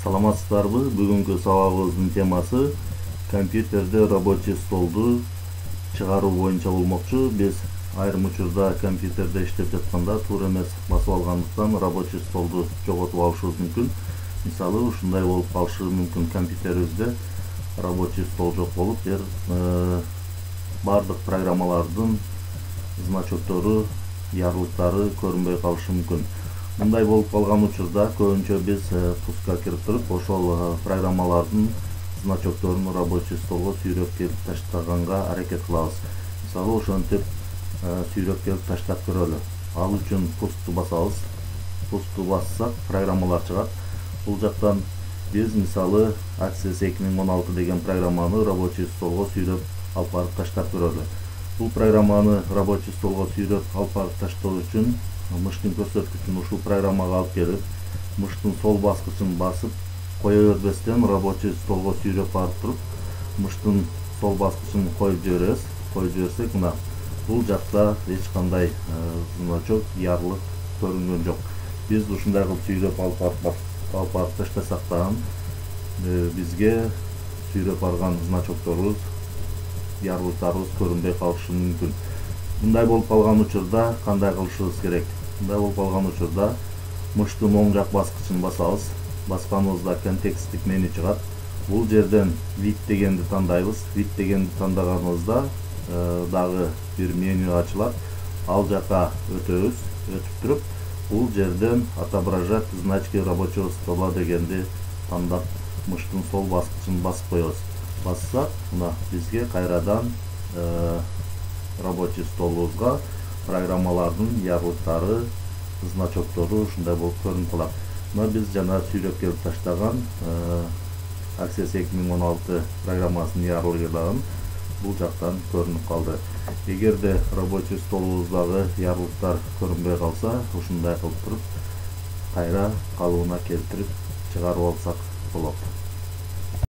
Саламатсыздарбы? Бүгүнкү сабагыбыздын темасы компьютерде рабочий столду чыгаруу боюнча болмокчу. Биз айрым учурда компьютерде иштеп жатканда туура эмес басып алгандыктан рабочий столду жоготуп алышыбыз мүмкүн. Мисалы, ушундай болуп калышы мүмкүн: компьютерибизде рабочий стол жок болуп, бардык программалардын значоктору, ярлыктары көрүнбөй калышы мүмкүн. Мындай болуп калган учурда көбүнчө биз пуска кирип туруп, ошол программалардын значокторун рабочий столго сүйрөп келип таштаганга аракет кылабыз. Мисалы, ошентип сүйрөп келип таштап көрөлү. Ал үчүн пусту басабыз. Пусту бассак, программалар чыгат. Бул жактан биз мисалы Access 2016 деген программаны рабочий столго сүйрөп алып барып таштап көрөлү. Бул программаны рабочий столго сүйрөп алып барып таштоо үчүн мыштын көрсөткүчүн ушул программага алып келип, мыштын сол баскычын басып кое бербестен рабочий столго сүйрөп барып туруп, мыштын сол баскычын коюп жиберебиз. Коюп жиберсек, мына бул жакта эч кандай значок, ярлык көрүнгөн жок. Биз ушундай кылып сүйрөп алып барып таштасак дагы бизге сүйрөп барган значокторубуз, ярлыктарыбыз көрүнбөй калышы мүмкүн. Мындай болуп калган учурда кандай кылышыбыз керек? Мындай болуп калган учурда мыштын оң жак баскычын басабыз. Басканыбызда контексттик меню чыгат. Бул жерден вид дегенди тандайбыз. Вид дегенди тандаганыбызда дагы бир меню ачылат. Ал жака өтөбүз. Өтүп туруп, бул жерден отображать значки рабочего стола дегенди тандап, мыштын сол баскычын басып коебуз. Бассак, мына бизге кайрадан рабочий столубузга программалардын ярлыктары, значоктору ушундай болуп көрүнүп калат. Мына биз жана сүйрөп келип таштаган Access 2016 программасынын ярлыгы дагы бул жактан көрүнүп калды. Эгерде рабочий столубуздагы ярлыктар көрүнбөй калса, ушундай кылып туруп кайра калыбына келтирип чыгарып алсак болот.